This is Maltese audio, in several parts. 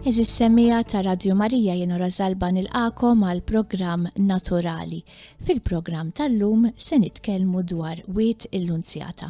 Eżis semija ta' Radio Marija jiena Rosalba nilqakom għal programm Naturali. Fil-programm tal-lum se nitkellmu dwar Wied il-Lunzjata.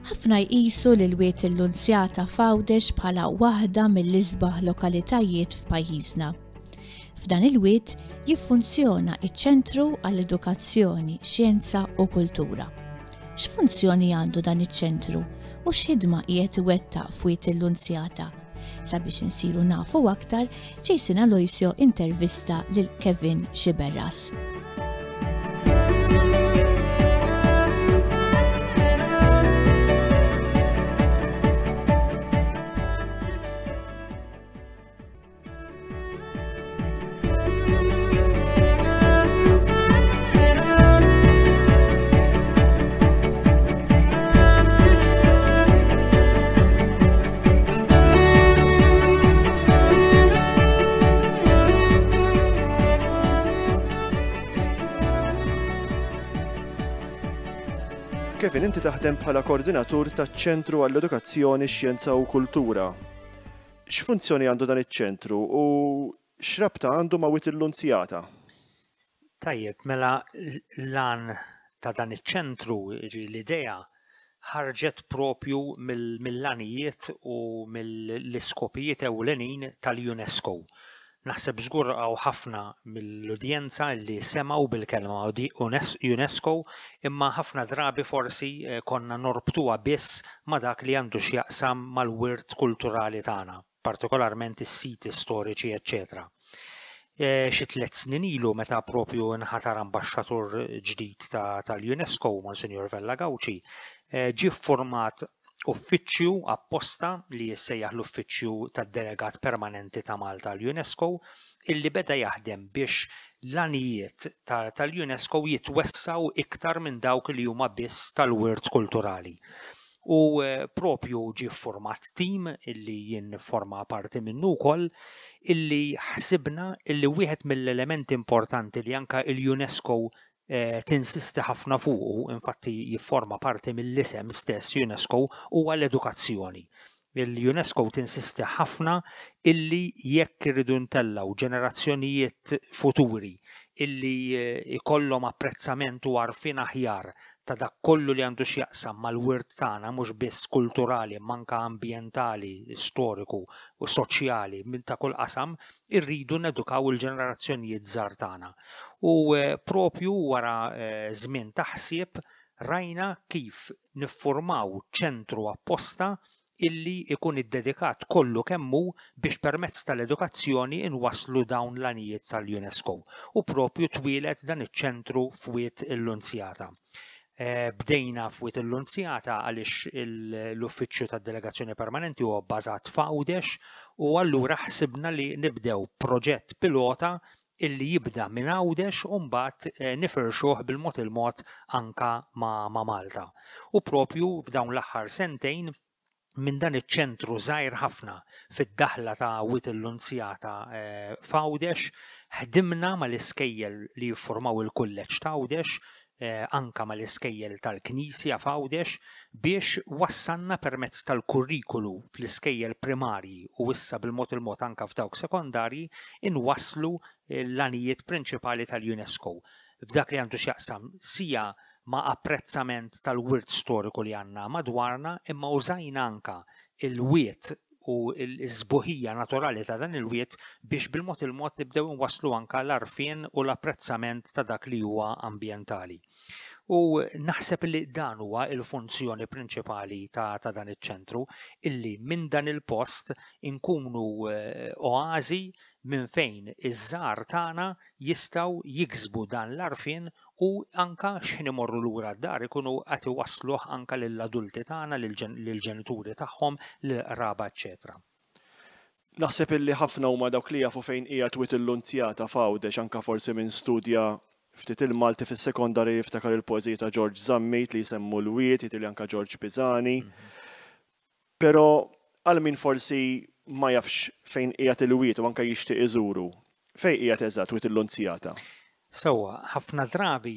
Ħafna jqisu lil Wied il-Lunzjata f'Għawdex bħala waħda mill-isbaħ lokalitajiet f'pajjiżna. F'dan il-wied jiffunzjona iċ-Ċentru għall-Edukazzjoni, Xjenza u Kultura. X'funzjoni għandu dan iċ-ċentru u x'ħidma qiegħed iwettaq f'Wied il-Lunzjata? Sabiex insiru nafu aktar, Jason Aloisio intervista lil Kevin Sciberras. Kevin, inti taħdem bħala koordinatur taċ-Ċentru għall-Edukazzjoni, Xjenza u Kultura. X'funzjoni għandu dan iċ-ċentru u x'rabta għandu ma' Wied il-Lunzjata? Tajjeb, mela l-għan ta' dan iċ-ċentru, jiġifieri l-idea, ħarġet propju mill-għanijiet u mill-iskopijiet ewlenin tal-UNESCO. Naħseb żgur hawn ħafna mill-udjenza li semgħu bil-kelma UNESCO imma ħafna drabi forsi konna norbtuha biss ma' dak li għandu x'jaqsam mal-wirt kulturali tagħna, partikolarment is-siti storiċi eċċetera. Xi tlett snin ilu meta propju nħatar ambaxxatur ġdid tal-UNESCO, Monsinjur Vella Gauci, ġie ffurmat uffiċċju apposta li jissejjaħ l-Uffiċċju tad-Delegat Permanenti ta' Malta għall-UNESCO illi beda jaħdem biex l-għanijiet tal-UNESCO jitwessgħu iktar minn dawk li huma biss tal-wirt kulturali. U propju ġie ffurmat tim illi jien nifforma parti minnu wkoll illi ħsibna illi wieħed mill-elementi importanti li anke l-UNESCO tinsisti ħafna fuqu, infatti jifforma parti mill-isem stess UNESCO, huwa l-edukazzjoni. Il-UNESCO tinsisti ħafna illi jekk irridu ntellgħu ġenerazzjonijiet futuri illi ikollhom apprezzament u għarfien aħjar ta' dak kollu li għandu x'jaqsam mal-wirt tagħna mhux biss kulturali imma anke ambjentali, storiku u soċjali minn ta' kull qasam, irridu nedukaw il-ġenerazzjonijiet żgħar tagħna. U propju wara żmien ta' ħsieb rajna kif niffurmaw ċentru apposta illi ikun iddedikat kollu kemm hu biex permezz tal-edukazzjoni nwasslu dawn l-għanijiet tal-UNESCO. U propju twieled dan iċ-ċentru f'Wied il-Lunzjata. Bdejna f'Wied il-Lunzjata għaliex l-Uffiċċju tad-Delegazzjoni Permanenti huwa bbażat f'Għawdex u allura ħsibna li nibdew proġett pilota illi jibda minn Għawdex u mbagħad nifirxuh bil-mod il-mod anka ma' Malta. U propju f'dawn l-aħħar sentejn minn dan iċ-ċentru żgħir ħafna fid-daħla ta' Wied il-Lunzjata f'Għawdex, ħdimna mal-iskejjel li jiffurmaw il-Kulleġġ ta' Għawdex, anka mal-iskejjel tal-Knisja f'Għawdex biex wassalna permezz tal-kurrikulu fl-iskejjel primarji u issa bil-mod il-mod anka f'dawk sekondarji inwasslu l-għanijiet prinċipali tal-UNESCO f'dak li għandu x'jaqsam sija ma' apprezzament tal-wirt storiku li għandna madwarna imma użajna anka l-wied u l-sbuħija naturali ta' dan il-wied biex bil-mod il-mod nibdew inwasslu anka l-għarfien u l-apprezzament ta' dak li huwa ambjentali. U naħseb li dan huwa l-funzjoni prinċipali ta', ta dan iċ-ċentru, illi minn dan il-post inkunu eh, oażi minn fejn iż-żgħar tagħna jistgħu jiksbu dan l-għarfien u anka x'ħin imorru lura d-dar ikunu qed iwassluh anka lill-adulti tagħna, lill-ġenituri tagħhom, lill-qraba eċċetera. Naħseb illi ħafna huma dawk li jafu fejn qiegħed Wied il-Lunzjata f'Għawdex anka forsi min studja ftit il-Malti fis-sekondarja jiftakar il-poeżiji ta' Ġorġ Zammit li jsemmu l-wied, jidhirli anka Ġorġ Pisani. Però għal min forsi ma jafx fejn qiegħed il-wied u anke jixtieq iżuru, fejn qiegħed eżatt Wied il-Lunzjata? Sewwa, ħafna drabi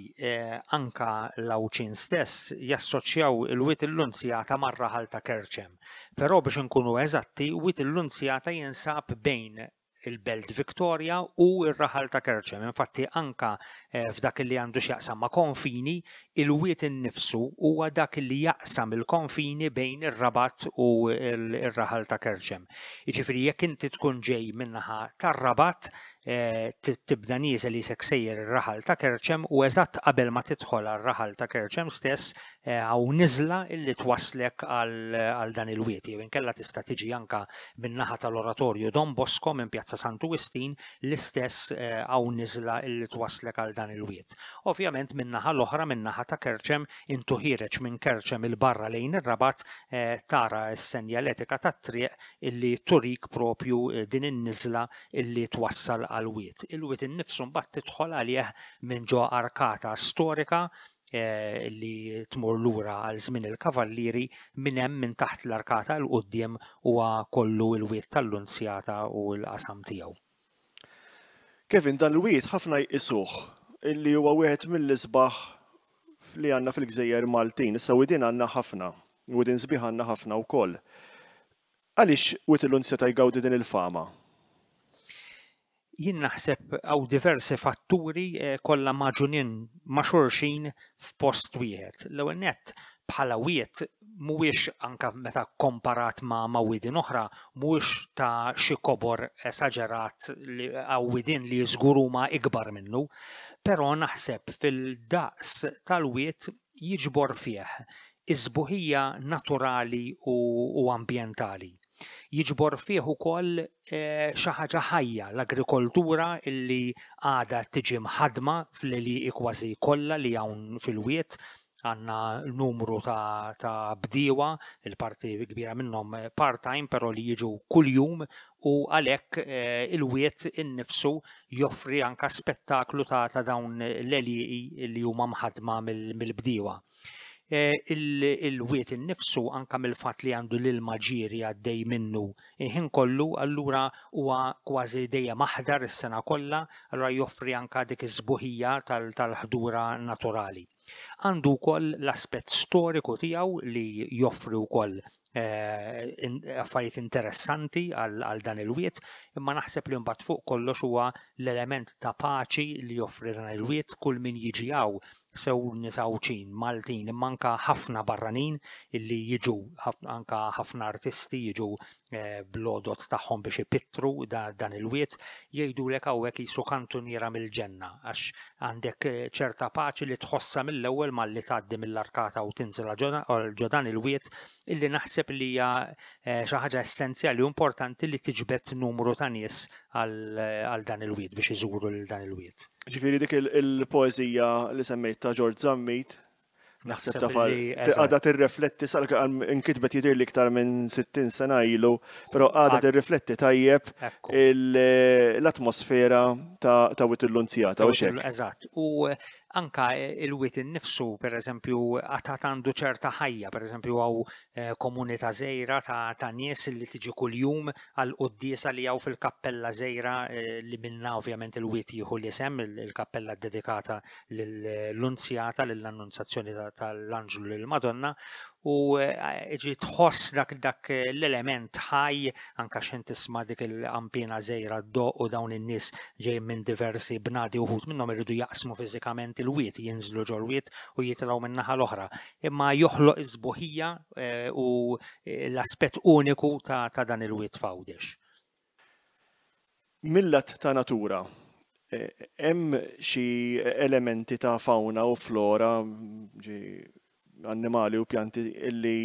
anka l-Għawdxin stess jassoċjaw il-Wied il-Lunzjata mar-raħal ta' Kerċem. Però biex inkunu eżatti, Wied il-Lunzjata jinsab bejn il-Belt Victoria u r-raħal ta' Kerċem. Infatti anka f'dak li għandu x'jaqsam ma' konfini, il-wied innifsu huwa dak li jaqsam il-konfini bejn ir-Rabat u r-raħal ta' Kerċem. Jiġifieri jekk inti tkun ġej min-naħa tar-Rabat, tibda nieżel qisek sejjer ir-raħal ta' Kerċem u eżatt qabel ma tidħol għar-raħal ta' Kerċem stess hawn niżla illi twasslek għal dan il-wied. Jew inkella tista' tiġi anka min-naħa tal-Oratorju Don Bosco minn Pjazza Santu Wistin l-istess hawn niżla illi twasslek għal dan il-wied. Ovvjament min-naħa l-oħra, min-naħa ta' Kerċem, intu ħiereġ minn Kerċem 'il barra lejn ir-Rabat tara s-senjaletika tat-triq illi turik propju din in-niżla illi twassal għall-wied. Il-wied innifsu mbagħad tidħol għalih minn ġo arkata storika eh, li tmur lura għal żmien il-kavallieri minn hemm minn taħt l-arkata 'l quddiem huwa kollu l-wied tal-Lunzjata u l-qasam tiegħu. Kevin, dan il-wied ħafna jqisuh illi huwa wieħed mill-isbaħ li għandna fil-gżejjer Maltin. Issa widien għandna ħafna, widien sbieħ għandna ħafna wkoll. Għaliex Wied il-Lunzjata jgawdi din il-fama? Jien naħseb hawn diversi fatturi eh, kollha magħġunin ma' xulxin f'post wieħed. L-ewwel nett bħala wied mhuwiex anka meta komparat ma' ma' widien oħra, mhuwiex ta' xi kobor esaġerat li hawn widien li żgur huma ikbar minnu, però naħseb fil-daqs tal-wied jiġbor fih is-sbuħija naturali u ambjentali. Jiġbor fih ukoll eh, xi ħaġa ħajja, l-agrikoltura illi għadha tiġi mħaddma fl-għelieqi kważi kollha li hawn fil-wied, għandna numru ta', ta bdiewa, il-parti kbira minnhom part-time, però li jiġu kuljum u għalhekk eh, il-wied innifsu joffri anka spettaklu ta', ta dawn l-għelieqi li huma mħaddma mill-bdiewa. Eh, il-wied innifsu anka mill-fatt li għandu l-ilma ġieri għaddej minnu il-ħin kollu, allura huwa kważi dejjem aħdar is-sena kollha, allura joffri anka dik is-sbuħija tal-ħdura naturali. Għandu wkoll l-aspett storiku tiegħu li joffri wkoll eh, affarijiet interessanti għal dan il-wied, imma naħseb li mbagħad fuq kollox huwa l-element ta' paċi li joffri dan il-wied kull min jiġi hawn sew nies Għawdxin, Maltin, imma anka ħafna barranin illi jiġu, anka ħafna artisti jiġu eh, bl-għodod tagħhom biex ipittru dan il-wied, jgħidulek hawnhekk qisu kantuniera mill-ġenna għax għandek eh, ċerta paċi li tħossha mill-ewwel malli tgħaddi mill-arkata u tinżel ġo dan il-wied illi naħseb li hija eh, xi ħaġa essenzjali u importanti li tiġbed numru ta' nies għal dan il-wied biex iżuru lil dan il-wied. Ġifieri dik il-poeżija li semmejt ta' George Zammit, naħseb ta' għadha tirrefletti sal inkitbet jidhir li iktar minn 60 sena ilu, però għadha tirrifletti tajjeb l-atmosfera ta' Wied il-Lunzjata u xek. Eżatt. U anka il-wied innifsu, per eżempju, għatat għandu ċerta ħajja, per eżempju, għaw eh, komunità żgħira ta', ta nies li tiġi kuljum għal quddiesa li hawn fil-kappella żgħira eh, li minna ovvjament il-wied jieħu l-isem, il-kappella dedikata lill-Lunzjata, lill-Annunzjazzjoni tal-Anġlu lill-Madonna, u eh, ġi tħoss dak dak l-element ħaj anka xejn tisma' dik il-qampina żgħira ddoq u dawn in-nies ġejjin minn diversi bnadi uħud minnhom iridu jaqsmu fiżikament il-wied, jinżlu ġol-wied u jitilgħu min-naħa l-oħra. Imma joħloq is-sbuħija eh, u l-aspett uniku ta', ta dan il-wied f'Għawdex. Mil-lat ta' natura, hemm xi elementi ta' fawna u flora, annimali u pjanti li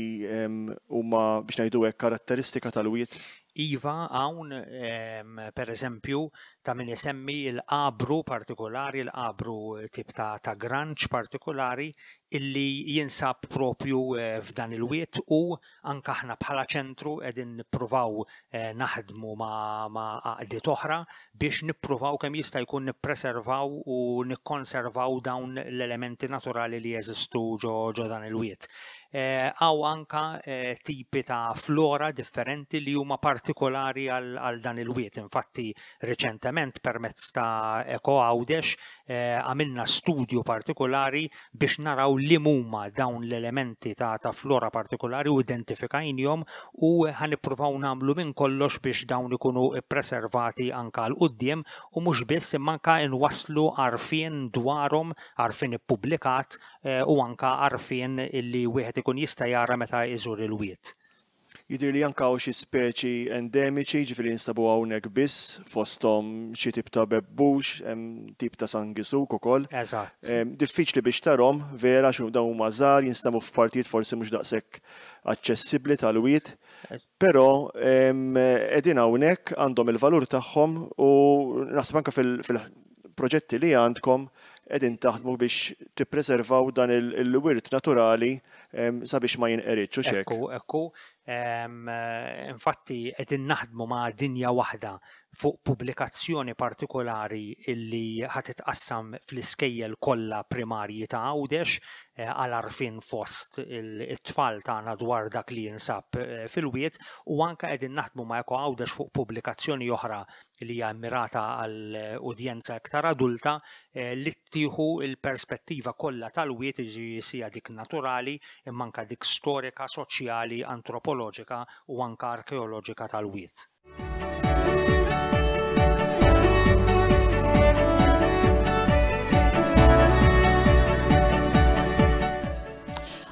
huma biex ngħidu hekk karatteristika tal-wied? Iva, hawn per eżempju ta' min isemmi l-qabru partikolari, l-qabru tip ta' ta' granċ partikolari illi jinsab propju f'dan il-wied u Anke aħna bħala ċentru qegħdin nippruvaw naħdmu ma' għaqdiet oħra biex nippruvaw kemm jista' jkun nippreservaw u nikkonservaw dawn l-elementi naturali li jeżistu ġo dan il-wied. Hawn anke tipi ta' flora differenti li huma partikolari għal dan il-wied. Infatti riċentement Reċentement permezz ta' Eko Għawdex għamilna studju partikolari biex naraw li huma dawn l-elementi ta', ta flora partikolari u identifikajnihom u ħa nippruvaw nagħmlu minn kollox biex dawn ikunu ppreservati anka 'l quddiem u mhux biss imma anka nwasslu għarfien dwarhom, għarfien ippubblikat eh, u anka għarfien illi wieħed ikun jista' jara meta jżur il-wied. Jidhirli anke hawn xi speċi endemiċi, jiġifieri jinstabu hawnhekk biss, fosthom xi tip ta' bebbux, hemm tip ta' sangisug ukoll. Eżatt. Diffiċli biex tarhom, vera, għax dawn huma żgħar, jinstabu f'partijiet forsi mhux daqshekk aċċessibbli tal-wied. Però qegħdin hawnhekk, għandhom il-valur tagħhom u naħseb anke fil-proġetti li għandkom qegħdin taħdmu biex tippreservaw dan il-wirt naturali sabiex ma jinqeridx, hux hekk? Ekku, ekku. Infatti qegħdin naħdmu ma' Dinja Waħda fuq pubblikazzjoni partikolari illi ħa titqassam fl-iskejjel kollha primarji ta' Għawdex eh, għal għarfien fost it-tfal tagħna dwar dak li jinsab eh, fil-wied u anke qegħdin naħdmu ma' Eko Għawdex fuq pubblikazzjoni oħra li hija mmirata għal udjenza iktar adulta eh, li tieħu l-perspettiva kollha tal-wied, jiġifieri sia dik naturali imma anke dik storika, soċjali, antropoloġika u anke arkeoloġika tal-wied.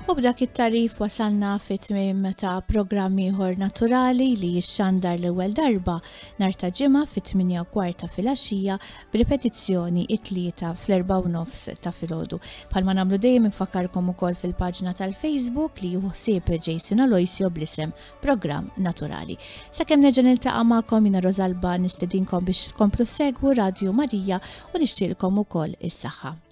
U b'dak it-tarif wasalna fit-tmiem ta' programm ieħor naturali li jixxandar l-ewwel darba nhar ta' Ġimgħa fit-8 u kwart ta' filgħaxija b'ripetizzjoni it-Tlieta fl-4 u nofs ta' filgħodu. Bħalma nagħmlu dejjem infakkarkom ukoll fil-paġna tal-Facebook li jieħu ħsieb Jason Aloisio bl-isem Programm Naturali. Sakemm nerġa' niltaqa' magħkom jiena Rosalba nistedinkom biex tkomplu segwu Radju Marija u nixtieqlkom ukoll is-saħħa.